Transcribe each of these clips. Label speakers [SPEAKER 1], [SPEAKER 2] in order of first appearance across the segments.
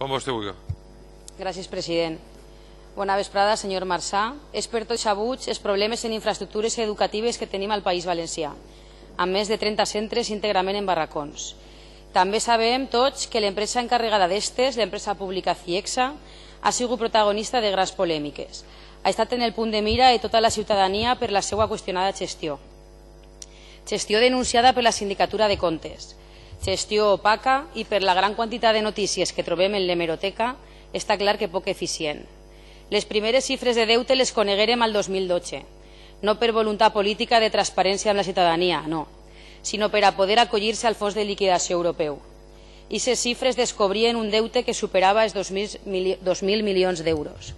[SPEAKER 1] Com vostè vulgui.
[SPEAKER 2] Gràcies, president. Bona vesprada, senyor Marçà. És per tots sabuts els problemes en infraestructures educatives que tenim al País Valencià, amb més de 30 centres íntegrament en barracons. També sabem tots que l'empresa encarregada d'estes, l'empresa pública CIEXA, ha sigut protagonista de grans polèmiques. Ha estat en el punt de mira de tota la ciutadania per la seva qüestionada gestió. Gestió denunciada per la Sindicatura de Comptes. Gestió opaca i per la gran quantitat de notícies que trobem en l'hemeroteca està clar que poc eficient. Les primeres xifres de deute les coneguérem al 2012, no per voluntat política de transparència amb la ciutadania, no, sinó per a poder acollir-se al fons de liquidació europeu. I aquestes xifres descobrien un deute que superava els 2.000 milions d'euros.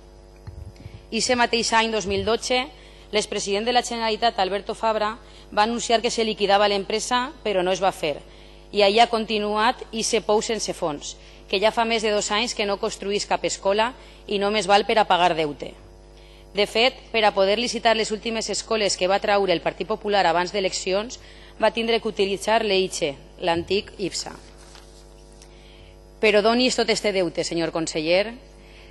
[SPEAKER 2] I aquest mateix any 2012, l'expresident de la Generalitat, Alberto Fabra, va anunciar que se liquidava l'empresa, però no es va fer. I allà ha continuat i se pou sense fons, que ja fa més de 2 anys que no construís cap escola i només val per a pagar deute. De fet, per a poder licitar les últimes escoles que va traure el Partit Popular abans d'eleccions, va tindre que utilitzar l'EICHE, l'antic IPSA. Però d'on és tot este deute, senyor conseller?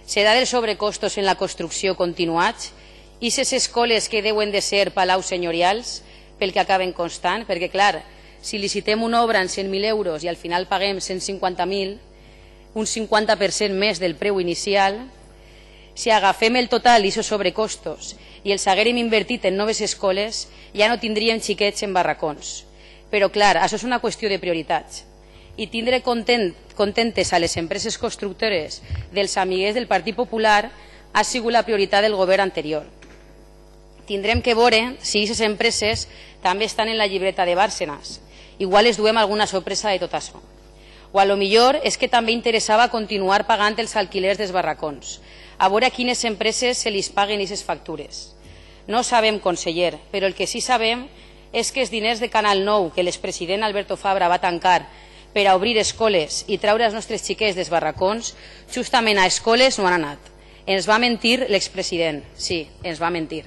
[SPEAKER 2] Serà dels sobrecostos en la construcció continuats? I ses escoles que deuen de ser palaus senyorials pel que acaben constant? Perquè, clar, si licitem una obra en 100.000 euros i al final paguem 150.000, un 50% més del preu inicial, si agafem el total i aquests sobrecostos i els haguérem invertit en noves escoles, ja no tindríem xiquets en barracons. Però, clar, això és una qüestió de prioritats. I tindre contentes a les empreses constructores dels amiguers del Partit Popular ha sigut la prioritat del govern anterior. Tindrem que veure si aquestes empreses també estan en la llibreta de Bárcenas. Igual es duem alguna sorpresa de tot això. O a lo millor és que també interessava continuar pagant els alquilers dels barracons, a veure a quines empreses se li paguen aquestes factures. No sabem, conseller, però el que sí sabem és que els diners de Canal 9 que l'expresident Alberto Fabra va tancar per a obrir escoles i traure els nostres xiquets dels barracons, justament a escoles no han anat. Ens va mentir l'expresident, sí, ens va mentir.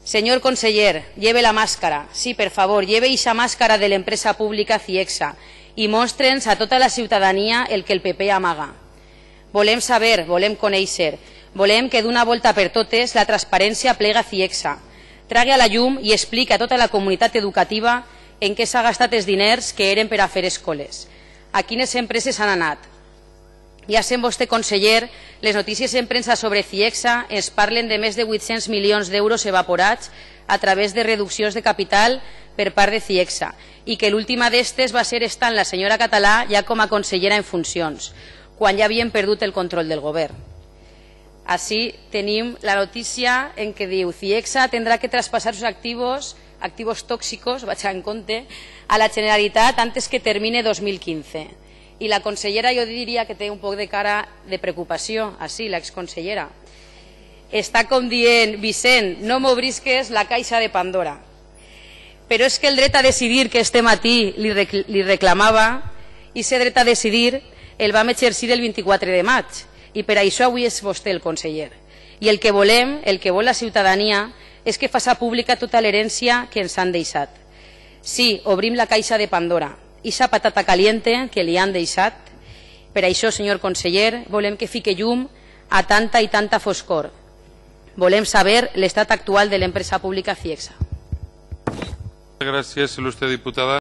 [SPEAKER 2] Señor conseller, lleve la màscara. Sí, per favor, lleve esa màscara de l'empresa pública CIEXA i mostre'ns a tota la ciutadania el que el PP amaga. Volem saber, volem conèixer, volem que d'una volta per totes la transparència plega CIEXA, tragui a la llum i expliqui a tota la comunitat educativa en què s'ha gastat els diners que eren per a fer escoles, a quines empreses han anat. Ja sent vostè, conseller, les notícies en premsa sobre CIEXA ens parlen de més de 800 milions d'euros evaporats a través de reduccions de capital per part de CIEXA i que l'última d'estes va ser estant la senyora Català ja com a consellera en funcions, quan ja havien perdut el control del govern. Així tenim la notícia en què diu CIEXA tindrà que traspassar sus activos tóxicos, vaig en compte, a la Generalitat antes que termine 2015. I la consellera jo diria que té un poc de cara de preocupació, així, l'exconsellera. Està com dient, Vicent, no m'obrisques la caixa de Pandora. Però és que el dret a decidir que este matí li reclamava, i aquest dret a decidir el vam exercir el 24 de maig, i per això avui és vostè el conseller. I el que volem, el que vol la ciutadania, és que faça pública tota l'herència que ens han deixat. Sí, obrim la caixa de Pandora, i esa patata caliente que li han deixat. Per això, senyor conseller, volem que fique llum a tanta i tanta foscor. Volem saber l'estat actual de l'empresa pública CIEXA.
[SPEAKER 1] Gràcies, il·lustre diputada.